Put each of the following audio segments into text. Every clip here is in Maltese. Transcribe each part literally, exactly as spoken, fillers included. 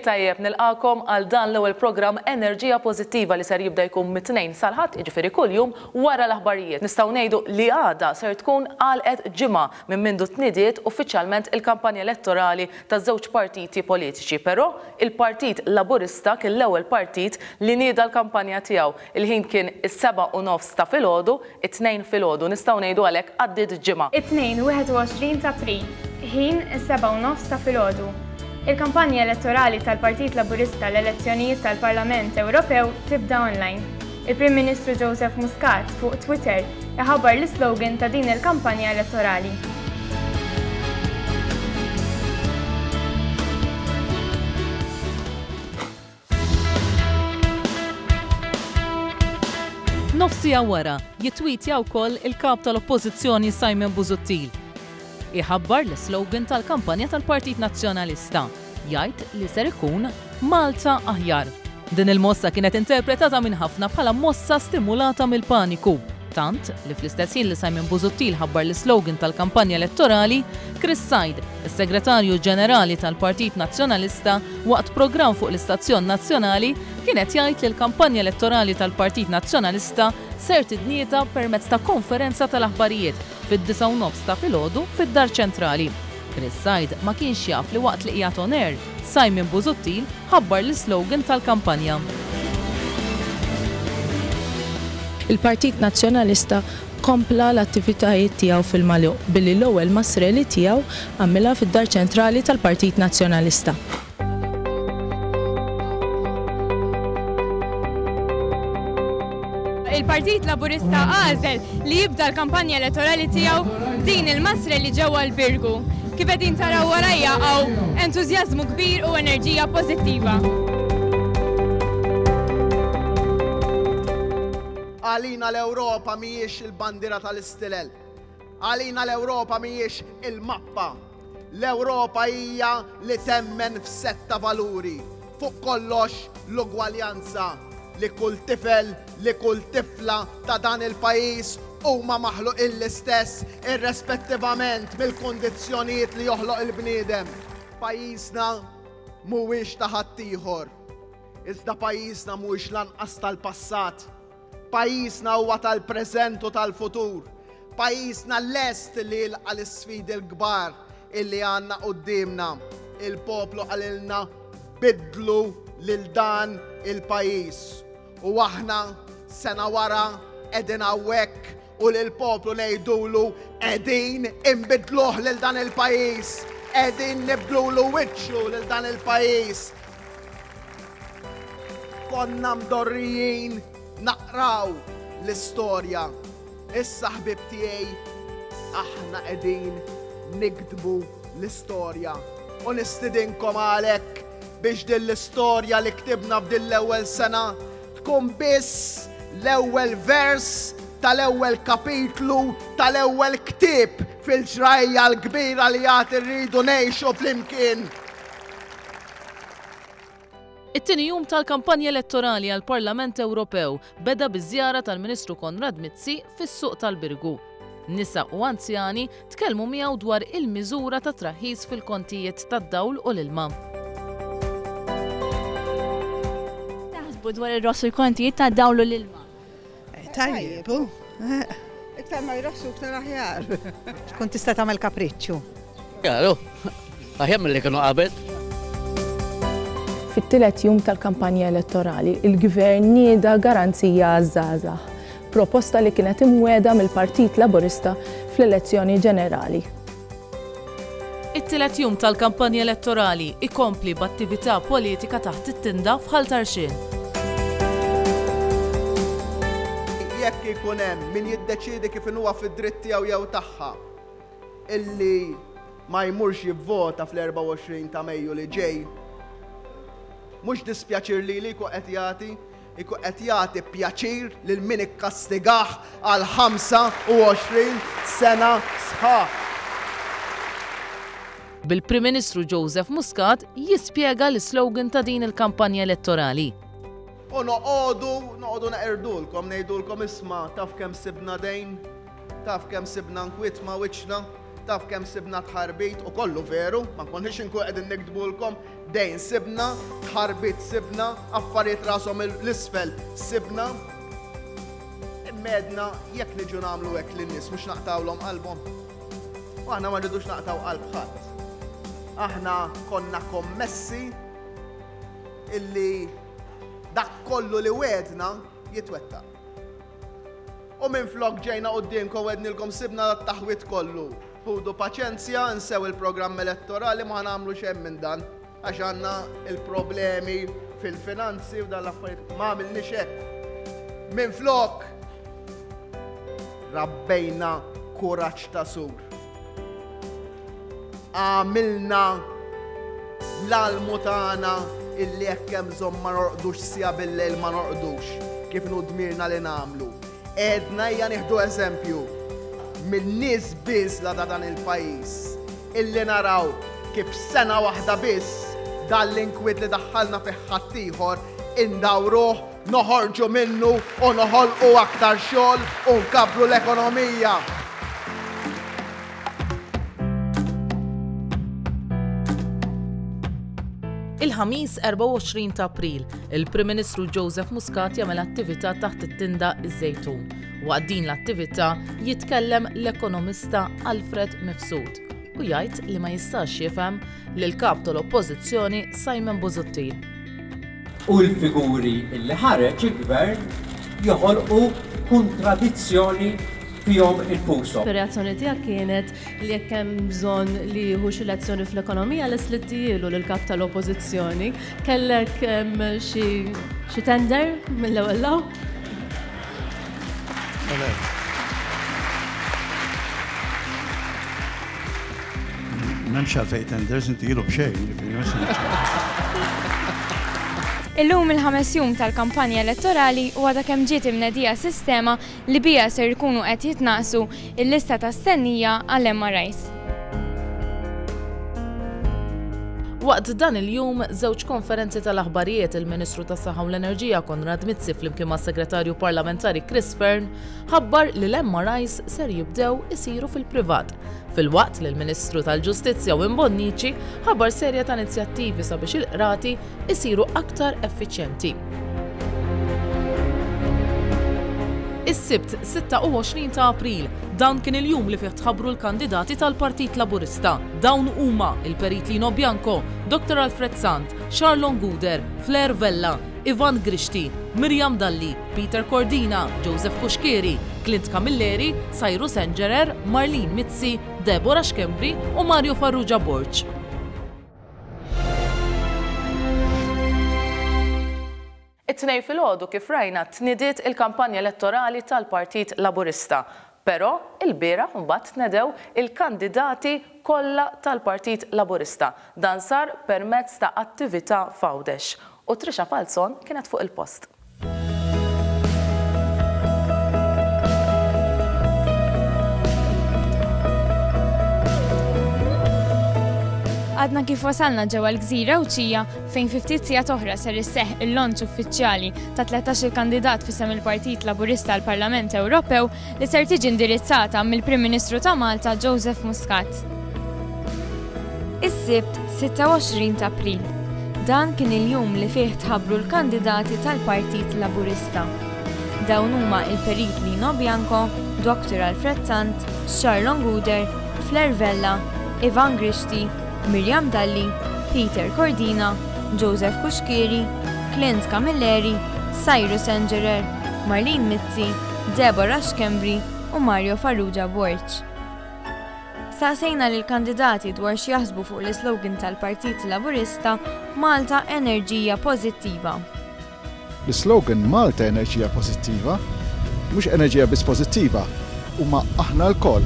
Lejl it-tajjeb, nilqagħkom għal dan l-ewwel programm Enerġija Pożittiva li ser jibda jkun mit-Tnejn sal-Ħadd, jiġifieri kuljum wara l-aħbarijiet. Nistgħu ngħidu li għada ser tkun għalqet ġimgħa minn mindu tnidiet uffiċjalment il-kampanja elettorali taż-żewġ partiti politiċi. Però il-Partit Laburista kien l-ewwel partit li nieda l-kampanja tiegħu. Il-ħin kien is-seba' u nofs ta' filgħodu, it-Tnejn filgħodu. Nistgħu ngħidu għalhekk għaddiet ġimgħa. It-Tnejn wieħed u għoxrin ta' April, ħin is-seba' u nofs ta' filgħodu. Il-kampanja elettorali tal-Partit Laburista l-elezzjonijiet tal-Parlament Ewropew tibda online. Il-Prim Ministru Joseph Muscat fuq Twitter iħabbar l-islogan ta' din il-kampanja elettorali. Nofsija wara jittwitja wkoll il-kap tal-Oppożizzjoni Simon Busuttil. Iħabbar l-slogan tal-kampanja tal-Partit Nazzjonalista. Jgħid li ser ikun Malta Aħjar. Din il-mossa kienet interpretata minn ħafna bħala mossa stimulata mill-paniku. Tant li fl-istess ħin li Simon Busuttil ħabbar l-slogan tal-kampanja elettorali, Chris Said, is-Segretarju Ġenerali tal-Partit Nazzjonalista, waqt programm fuq l-Istazzjon Nazzjonali, kienet jgħid li l-kampanja elettorali tal-Partit Nazzjonalista ser tidnieta permezz ta' konferenza tal-aħbarijiet fid-disgħa u nofs ta' filgħodu fid-Dar Ċentrali. Chris Said ma kienx jaf li waqt li qiegħed on air, Simon Busuttil ħabbar l-slogan tal-kampanja. Il-Partit Nazzjonalista kompla l-attivitajiet tiegħu fil-magħluq billi l-ewwel mass rally tiegħu għamilha fid-Dar Ċentrali tal-Partit Nazzjonalista. Il-Partit Laburista għażel li jibda l-kampanja elettorali tiegħu din il-mass rally ġewwa l-Birgu. Kif qegħdin taraw warajja hawn entużjażmu kbir u enerġija pożittiva. Għalina l-Ewropa mhijiex il-bandiera tal-istilel. Għalina l-Ewropa mhijiex il-mappa. L-Ewropa hija li temmen f'setta valuri. Fuq kollox l-ugwaljanza li kull tifel, li kull tifla ta' dan il-pajjiż huma maħluqin l-istess irrespettivament mill-kundizzjonijiet li joħloq il-bniedem. Pajjiżna mhuwiex ta' ħaddieħor. Iżda pajjiżna mhuwiex lanqas tal-passat. Pajjiżna huwa tal-preżent u tal-futur. Pajjiżna lest li jilqa' l-isfidi l-kbar illi għandna quddiemna. Il-poplu qalilna bidlu lil dan il-pajjiż. U aħna sena wara qegħdin hawnhekk u lill-poplu ngħidulu qegħdin inbidluh lil dan il-pajjiż, qegħdin nibdlulu wiċċu lil dan il-pajjiż. Konna mdorrijin naqraw l-istorja. Issa ħbib tiegħi aħna qegħdin nikdbu l-istorja. U nistidinkom għalhekk biex din l-istorja li ktibna f'din l-ewwel sena tkun biss l-ewwel vers tal-ewwel kapitlu tal-ewwel ktieb fil-ġrajja l-kbira li għad irridu ngħixu flimkien. It-tieni jum tal-kampanja elettorali għall-Parlament Ewropew beda biż-żjara tal-Ministru Konrad Mizzi fis-suq tal-Birgu. Nisa u anzjani tkellmu miegħu dwar il-miżura ta' traħħis fil-kontijiet tad-dawl u l-ilma. Taħsbu dwar ir-ross u l-kontijiet tad-dawl u l-ilma? Tajjeb, iktar ma jrossu iktar aħjar. Tkun tista' tagħmel kapriċċju. Jaru, aħjar milli kienu qabel. Fit-tielet jum tal-kampanja elettorali, il-Gvern nieda garanzija għaż-żgħażagħ, proposta li kienet imwiegħda mill-Partit Laburista fl-elezzjoni ġenerali. It-tielet jum tal-kampanja elettorali ikompli b'attività politika taħt it-tinda f'Ħal Tarxien. Jekk ikun hemm min jiddeċiedi kif inhuwa fid-dritt tiegħu jew tagħha illi ma jmurx jivvota fl-erbgħa u għoxrin ta' Mejju li ġej, mhux dispjaċir li li jkun qed jagħti, ikun qed jagħti pjaċir lil min ikkastigah għal ħamsa u għoxrin sena sħaħ. Bil-Prim Ministru Joseph Muscat jispjega l-slogan ta' din il-kampanja elettorali. U noqogħdu, noqogħdu neqirdulkom, ngħidulkom isma' taf kemm sibna dejn, taf kemm sibna nkwiet ma' wiċċna, Taf kemm sibna tħarbit u kollu veru, ma nkunniex inkun qegħdin nikdbulkom, dejn sibna, tħarbit sibna, affarijiet rashom l-isfel sibna. Immedna jekk niġu nagħmlu hekk lin-nies mhux naqtawlhom qalbhom. U aħna ma rridux naqtaw qalb ħadd. Aħna konna kommessi illi dak kollu li wedna jitwettaq. U minflok ġejna quddiemkom għednilkom sibna dat-taħwit kollu. Ħudu paċenzja, nsew il-programm elettorali ma nagħmlu xejn minn dan għax għandna il-problemi fil-finanzi u dan l-affarijiet ma għamilniex hekk. Minflok rabbejna kuraġġ ta' sur. Għamilna l-almu tagħna illi jekk hemm bżonn ma norqdux sija bil-lejl ma norqdux kif inhu dmirna li nagħmlu. Edna hija nieħdu eżempju min-nies biss la ta' dan il-pajjiż illi naraw kif sena waħda biss dan l-inkwiet li daħħalna fih ħaddieħor indawruh, noħorġu minnu u noħolqu aktar xogħol u nkabbru l-ekonomija. Il-Ħamis erbgħa u għoxrin ta' April, il-Prim Ministru Joseph Muscat jagħmel attività taħt it-tinda Iż-Żejtun. Waqt din l-attività jitkellem l-ekonomista Alfred Mifsud u jgħid li ma jistax jifhem lil kap tal-Oppożizzjoni Simon Busuttil. U l-figuri li ħareġ il-gvern joħolqu kontradizzjoni fihom infushom. Ir-reazzjoni tiegħek kienet li jekk hemm bżonn li jieħu xi lezzjoni fl-ekonomija lest li ttijielu lill-kap tal-Oppożizzjoni. Kellek xi tender mill-ewwel law? M'hemmx għalfejn tenders, intijielu b'xejn, jiġifieri ma se Illum il-ħames jum tal-kampanja elettorali u għadha kemm ġiet imnedija sistema li bija ser ikunu qed jitnaqsu il-lista ta' stennija għall M R Is. Waqt dan il-jum, żewġ konferenzi tal-aħbarijiet il-Ministru tas-Saħħa u l-Enerġija Konrad Mizzi flimkien mas-Segretarju Parlamentari Chris Fearne ħabbar li l-M R Is ser jibdew isiru fil-privat. Fil-waqt li l-Ministru tal-Ġustizzja Owen Bonnici ħabbar serje ta' inizjattivi sabiex il-qrati isiru aktar effiċjenti. Is-Sibt sitta u għoxrin ta' April, dan kien il-jum li fih tħabbru l-kandidati tal-Partit Laburista. Dawn huma il-Perit Lino Bianco, Doktor Alfred Sant, Charlon Guder, Flair Vella, Ivan Grixti, Miriam Dalli, Peter Cordina, Joseph Cuschieri, Clint Camilleri, Cyrus Engerer, Marlene Mizzi, Deborah Schembri u Mario Farrugia Borg. It-Tnejn filgħodu kif rajna tnidiet il-kampanja elettorali tal-Partit Laburista. Però il-bieraħ mbagħad tnedew il-kandidati kollha tal-Partit Laburista. Dan sar permezz ta' attività f'Għawdex. U Trisha Falzon kienet fuq il-post. Għadna kif wasalna ġewwa l-Gżira Għawdxija fejn fi ftit sigħat oħra ser isseħħ il-lonċ uffiċjali ta' tlettax-il kandidat f'isem il-Partit Laburista għall Parlament Ewropew li ser tiġi indirizzata mill-Prim Ministru ta' Malta Joseph Muscat. Is-Sibt sitta u għoxrin ta' April. Dan kien il-jum li fih tħabbru l-kandidati tal-Partit Laburista. Dawn huma il-Perit Lino Bianco, Doktor Alfred Sant, Charlon Guder, Flair Vella, Ivan Grixti, Miriam Dalli, Peter Cordina, Joseph Cuschieri, Clint Camilleri, Cyrus Engerer, Marlene Mizzi, Deborah Schembri u Mario Farrugia Borg. Saqsejna lil kandidati dwar x'jaħsbu fuq l-islogan tal-Partit Laburista Malta Enerġija Pożittiva. L-slogan Malta Enerġija Pożittiva mhux enerġija biss pożittiva, huma aħna lkoll.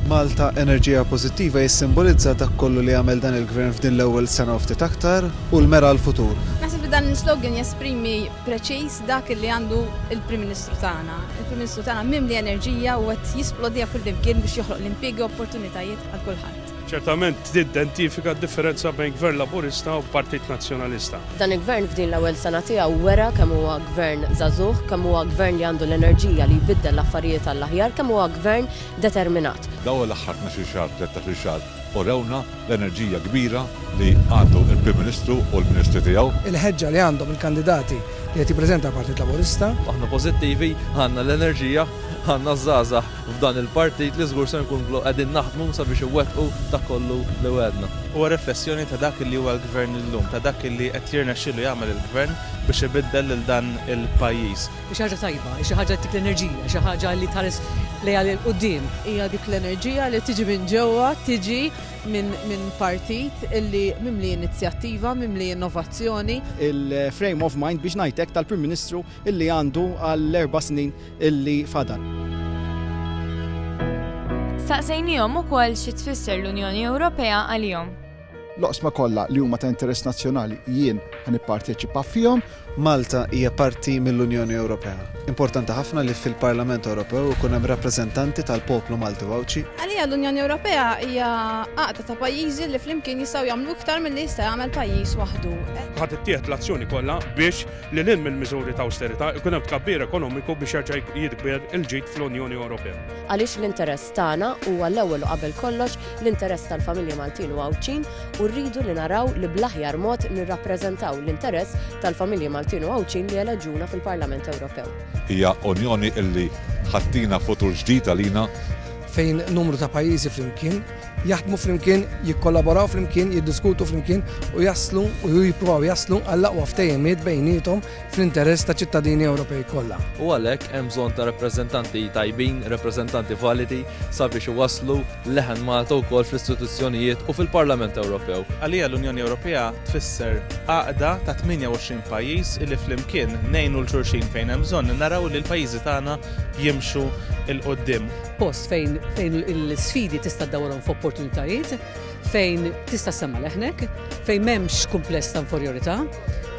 Malta Enerġija Pożittiva jissimbolizza dak kollu li għamel dan il-gvern f'din l-ewwel sena u ftit aktar u l-mera l-futur. Naħseb li dan l-slogan jesprimi preċiż dak li għandu il-Prim Ministru tagħna. Il-Prim Ministru tagħna mimli enerġija u qed jisplodija kullimkien biex joħloq l-impjiegi u opportunitajiet għal kulħadd. Ċertament tidentifika d-differenza bejn Gvern Laburista u Partit Nazzjonalista. Dan il-gvern f'din l-ewwel sena tiegħu wera kemm huwa gvern żagħżugħ, kemm huwa gvern li għandu l-enerġija li jbiddel l-affarijiet għall-aħjar, kemm huwa gvern determinat. Dawn l-aħħar tnax-il xahar, tlettax-il xahar urewna l-enerġija kbira li għandu il-Prim Ministru u l-Ministri tiegħu. Il-ħeġġa li għandhom il-kandidati li qed jippreżenta l-Partit Laburista. Aħna pożittivi, għandna l-enerġija, għandna żgħażagħ f'dan il-partit li żgur se nkunu qegħdin naħdmu sabiex iwettqu dak kollu li wegħdna. Huwa riflessjoni ta' dak li huwa l-gvern illum, ta' dak li qed jirnexxielu jagħmel il-gvern biex ibiddel lil dan il-pajjiż. Xi ħaġa tajba, xi ħaġa tik l-enerġija, xi ħaġa li tħares lejha 'l quddiem. Hija dik l-enerġija li tiġi minn ġewwa, tiġi minn min partit illi mimli inizjattiva, mimli innovazzjoni. Il-frame of mind biex ngħidlek tal-Prim Ministru illi għandu għall-erba' snin illi fadal. Staqsejnihom ukoll xi tfisser l-Unjoni Ewropea għalihom. L-oqsma kollha li huma ta' interess nazzjonali jien ħa nipparteċipa fihom. Malta hija parti mill-Unjoni Ewropea. Importanti ħafna li fil-Parlament Ewropew ikun hemm rappreżentanti tal-poplu Malti u Għawdxi. Għalija l-Unjoni Ewropea hija għaqda ta' pajjiżi li flimkien jistgħu jagħmlu iktar milli jista' jagħmel pajjiż waħdu. Ħa tittieħed l-azzjoni kollha biex lil hinn mill-miżuri ta' awsterità ikun hemm tkabbir ekonomiku biex jerġa' jikber il-ġid fl-Unjoni Ewropea. Għaliex l-interess tagħna huwa l-ewwel u qabel kollox l-interess tal-familji Maltin u Għawdxin u rridu li naraw li bl-aħjar mod nirrappreżentaw l-interess tal-familji Maltin u Għawdxin li eleġuna fil-Parlament Ewropew. Hija unjoni illi ħa ttina futur ġdid għalina. Fejn numru ta' pajjiżi flimkien, jaħdmu flimkien, jikkollaboraw flimkien, jiddiskutu flimkien u jaslu u jippruvaw jaslu għall-aqwa ftehimiet bejniethom fl-interess ta' ċittadini Ewropej kollha. U għalhekk hemm bżonn ta' rappreżentanti tajbin, rappreżentanti validi sabiex iwasslu leħen Malta wkoll fl-istituzzjonijiet u fil-Parlament Ewropew. Għalija l-Unjoni Ewropea tfisser għaqda ta' tmienja u għoxrin pajjiż illi flimkien ngħinu 'l xulxin fejn hemm bżonn naraw li l-pajjiżi tagħna jimxu 'l quddiem. Post fejn fejn l-sfidi tista' ddawwarhom f'opportunitajiet, fejn tista' ssemma' leħnek, fejn m'hemmx kumpless ta' inferjorità,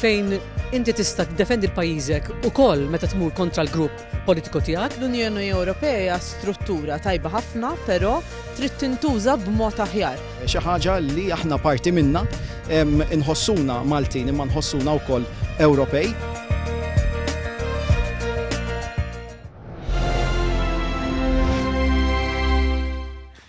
fejn inti tista' tiddefendi l-pajjiżek ukoll meta tmur kontra l-grupp politiku tiegħek. L-Unjoni Ewropea struttura tajba ħafna, però trid tintuża b'mod aħjar. Xi ħaġa li aħna parti minna, inħossuna Maltin imma nħossuna wkoll Ewropej.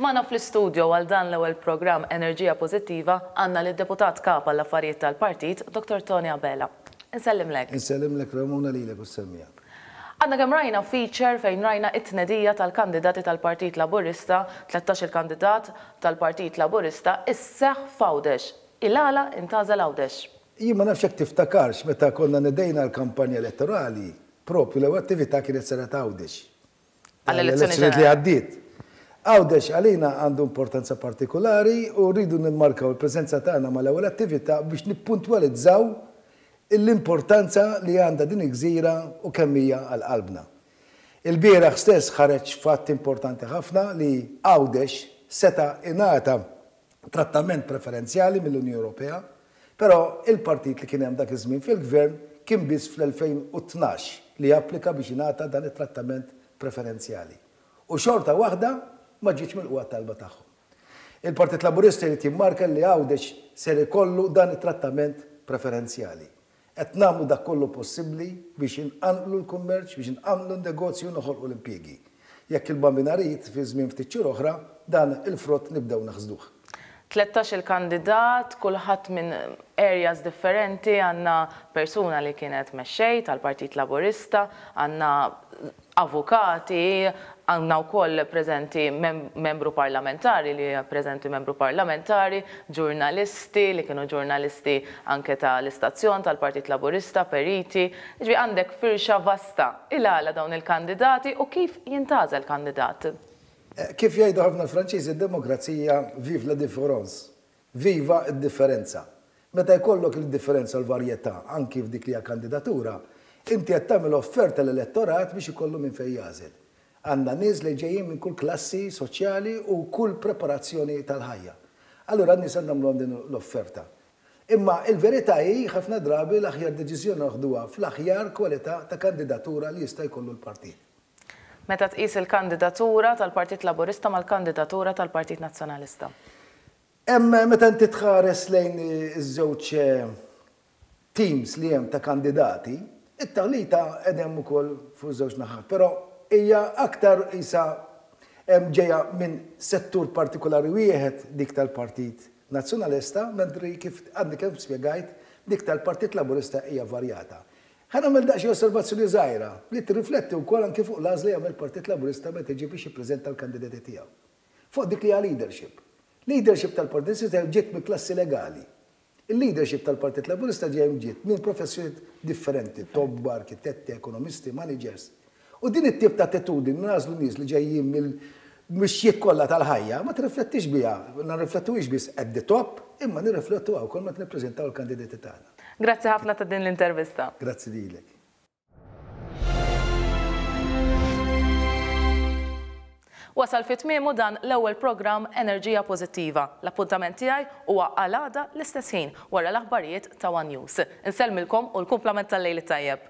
Magħna fl-istudio għal dan l-ewwel programm Enerġija Pożittiva għandna lid-deputat kap għall-affarijiet tal-partit, Doktor Tony Abela. Insellimlek. Insellimlek Ramona lilek u s-semmija. Għandna kemm rajna feature fejn rajna it-tnedija tal-kandidati tal-Partit Laburista, tlettax-il kandidat tal-Partit Laburista, isseħ f'Għawdex. Il-għala intgħażel Għawdex. Jien ma nafx jekk tiftakarx meta konna nedejna l-kampanja elettorali, propju l-ewwel attività kienet saret Għawdex. Għall-elezzjoni li għaddiet. Għawdex għalina għandu importanza partikolari u rridu nimmarkaw il-preżenza tagħna mal-ewwel attività biex nippuntwalizzaw l-importanza li għandha din il-gżira u kemm hija għal qalbna. Il-bieraħ stess ħareġ fatt importanti ħafna li Għawdex seta' ingħata trattament preferenzjali mill-Unjoni Ewropea, però il-partit li kien hemm dak iż-żmien fil-gvern kien biss fl-elfejn u tnax li applika biex ingħata dan it-trattament preferenzjali. U xorta waħda ma ġietx milquha t-talba tagħhom. Il-Partit Laburista jrid jimmarka li Għawdex ser ikollu dan it-trattament preferenzjali. Qed nagħmlu dak kollu possibbli biex inqanqlu l-kummerċ, biex inqanqlu n-negozju u noħolqu l-impjiegi. Jekk il-Bambin irid fi żmien ftit xhur oħra, dan il-frott nibdew naħsduh. Tlettax-il kandidat, kulħadd minn areas differenti, għandna persuna li kienet mexxej tal-Partit Laburista, għandna avukati, għandna wkoll preżenti mem-, membru parlamentari li preżenti membru parlamentari, ġurnalisti li kienu ġurnalisti anke tal-istazzjon tal-Partit Laburista, periti. Ġifieri għandek firxa vasta il-għala dawn il-kandidati u kif jintgħażel kandidat. Eh, kif jgħidu ħafna Franċiżi, id-demokrazija vive la différence, viva d-differenza. Meta jkollok il-differenza u l-varjetà anki f'dik li hija kandidatura, inti qed tagħmel offerta l-elettorat biex ikollu minn fejn jagħżel. Għandna nies li ġejjin minn kull klassi soċjali u kull preparazzjoni tal-ħajja. Allura n-nies għandna nagħmluhom din l-offerta. Imma il-verità hi ħafna drabi l-aħjar deċiżjoni naħduha fl-aħjar kwalità ta' kandidatura li jista' jkollu l-partit. Meta tqis il-kandidatura tal-Partit Laburista mal-kandidatura tal-Partit Nazzjonalista? Hemm meta inti tħares lejn iż-żewġ teams li hemm ta' kandidati, it-taħlita hemm ukoll fuq żewġ naħat, però hija aktar isa ġejja minn settur partikolari wieħed, dik tal-Partit Nazzjonalista, mentri kif għadni kemm spjegajt, dik tal-Partit Laburista hija varjata. Ħa nagħmel daqsxejn osservazzjoni żgħira li tirrifletti wkoll anke fuq l-għażla li jagħmel Partit Laburista meta jiġi biex jippreżenta l-kandidati tiegħu. Fuq dik li hija leadership. Leadership tal-Partit Nazzjonalista ġiet mill klassi legali. Il-leadership tal-Partit Laburista ġejjem ġiet minn professjonijiet differenti, tobba, arkitetti, ekonomisti, managers. U din it-tip ta' attitudni nagħżlu nies li ġejjin mill-mixjiet kollha tal-ħajja ma tirriflettix biha, nirriflettuhiex biss at the top, imma nirriflettuha wkoll meta nippreżentaw il-kandidati tagħna. Grazzi ħafna ta' din l-intervista. Grazzi lilek. Wasal fi tmiemu dan l-ewwel programm Enerġija Pożittiva. L-appuntament tiegħi huwa għal għada l-istess ħin wara l-aħbarijiet ta' One News. Insellmilkom u l-kumplament tal-lejl it-tajjeb.